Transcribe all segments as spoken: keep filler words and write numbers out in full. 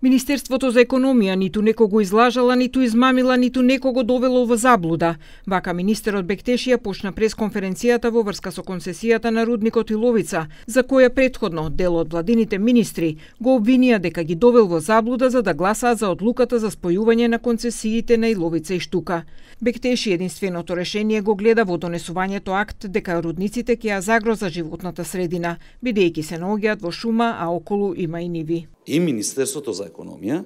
Министерството за економија ниту некого излажала, ниту измамила, ниту некого довело во заблуда. Вака министерот Бектешија почна пресконференцијата во врска со концесијата на рудникот Иловица, за која претходно дел од владините министри го обвинија дека ги довел во заблуда за да гласаат за одлуката за спојување на концесиите на Иловица и Штука. Бектеши единственото решение го гледа во донесувањето акт дека рудниците ќе ја загроза животната средина, бидејќи се наоѓаат во шума, а околу има и ниви. И Министерството за економија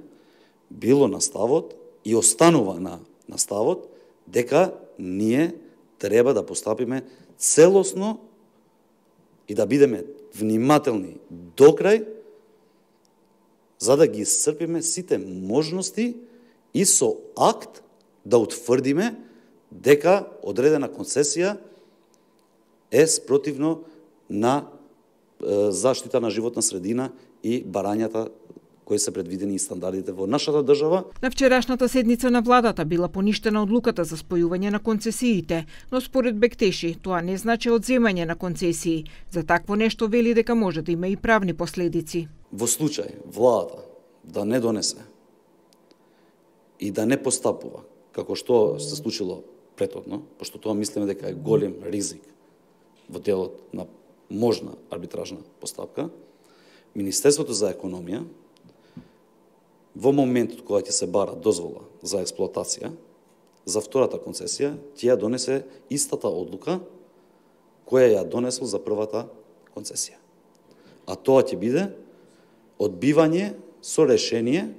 било на ставот и останува на, на ставот дека ние треба да постапиме целосно и да бидеме внимателни до крај за да ги исцрпиме сите можности и со акт да утврдиме дека одредена концесија е спротивно на е, заштита на животна средина и барањата кои се предвидени и стандардите во нашата држава. На вчерашната седница на владата била поништена одлуката за спојување на концесиите, но според Бектеши тоа не значи одземање на концесии. За такво нешто вели дека може да има и правни последици. Во случај владата да не донесе и да не постапува како што се случило претhodно, пошто тоа мислиме дека е голем ризик во делот на можна арбитражна постапка, Министерството за економија во моментот кога ќе се бара дозвола за експлоатација за втората концесија, ќе ја донесе истата одлука која ја донесол за првата концесија. А тоа ќе биде одбивање со решение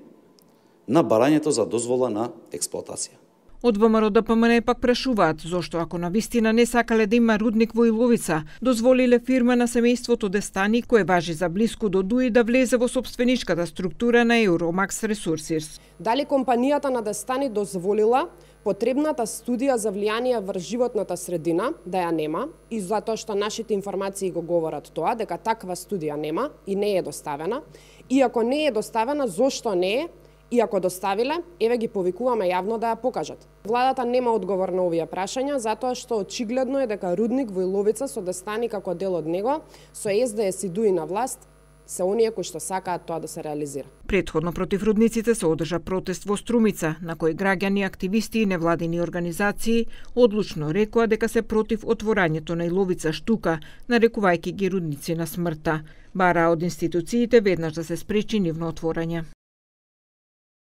на барањето за дозвола на експлоатација. Од ВМРО Д П М Н пак прашуваат зошто ако на вистина не сакале да има рудник во Иловица, дозволиле фирма на семејството Дестани, кое важи за блиску до Дуи, да влезе во сопстvenичката структура на Euromax Resources. Дали компанијата на Дестани дозволила потребната студија за влијание врз животната средина да ја нема, и затоа што нашите информации го говорат тоа, дека таква студија нема и не е доставена, и ако не е доставена, зошто не е? И ако доставиле, еве ги повикуваме јавно да ја покажат. Владата нема одговор на овие прашања, затоа што очигледно е дека рудник во Иловица со Дестани како дел од него, со С Д С и Дуи на власт, се оние кои што сакаат тоа да се реализира. Претходно против рудниците се одржа протест во Струмица, на кој граѓани, активисти и невладини организации одлучно рекоа дека се против отворањето на Иловица Штука, нарекувајќи ги рудници на смртта. Бара од институциите веднаш да се спречи нивно отворање.